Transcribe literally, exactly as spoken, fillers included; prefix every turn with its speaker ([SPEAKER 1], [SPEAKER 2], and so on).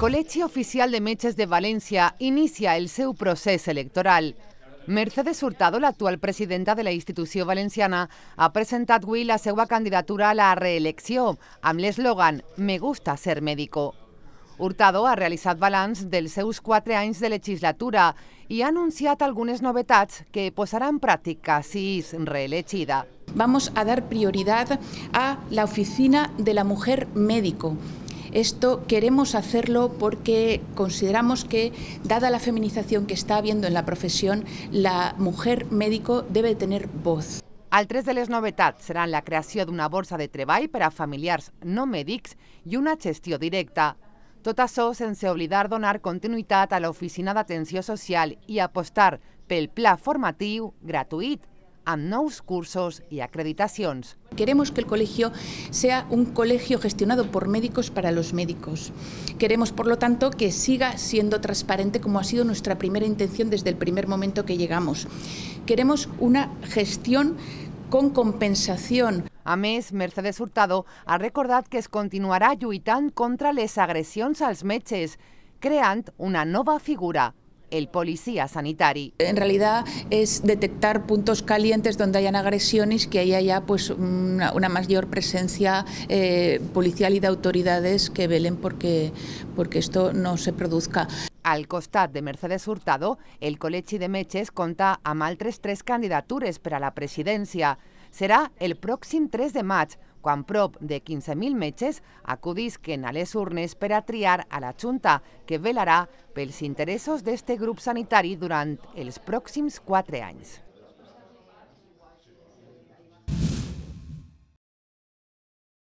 [SPEAKER 1] Col·legi Oficial de Metges de València inicia el seu procés electoral. Mercedes Hurtado, l'actual presidenta de la institució valenciana, ha presentat avui la seva candidatura a la reelecció amb l'eslògan «Me gusta ser médico». Hurtado ha realitzat balanç dels seus quatre anys de legislatura i ha anunciat algunes novetats que posarà en pràctica si és reelegida.
[SPEAKER 2] Vamos a dar prioridad a la oficina de la mujer médico. Esto queremos hacerlo porque consideramos que, dada la feminización que está habiendo en la profesión, la mujer médico debe tener voz.
[SPEAKER 1] Altres de les novetats seran la creació d'una borsa de treball per a familiars no mèdics i una gestió directa. Tot això sense oblidar donar continuïtat a l'Oficina d'Atenció Social i apostar pel pla formatiu gratuït, amb nous cursos y acreditaciones.
[SPEAKER 2] Queremos que el colegio sea un colegio gestionado por médicos para los médicos. Queremos, por lo tanto, que siga siendo transparente como ha sido nuestra primera intención desde el primer momento que llegamos. Queremos una gestión con compensación.
[SPEAKER 1] A més, Mercedes Hurtado ha recordat que es continuarà lluitant contra les agressions als metges, creant una nova figura, el policía sanitario.
[SPEAKER 2] En realidad es detectar puntos calientes donde hayan agresiones, que haya ya pues una, una mayor presencia eh, policial y de autoridades que velen porque, porque esto no se produzca.
[SPEAKER 1] Al costat de Mercedes Hurtado, el Col·legi de Metges compta amb altres tres candidatures per a la presidència. Serà el pròxim tres de maig, quan prop de quinze mil metges acudisquen a les urnes per a triar a la Junta, que velarà pels interessos d'este grup sanitari durant els pròxims quatre anys.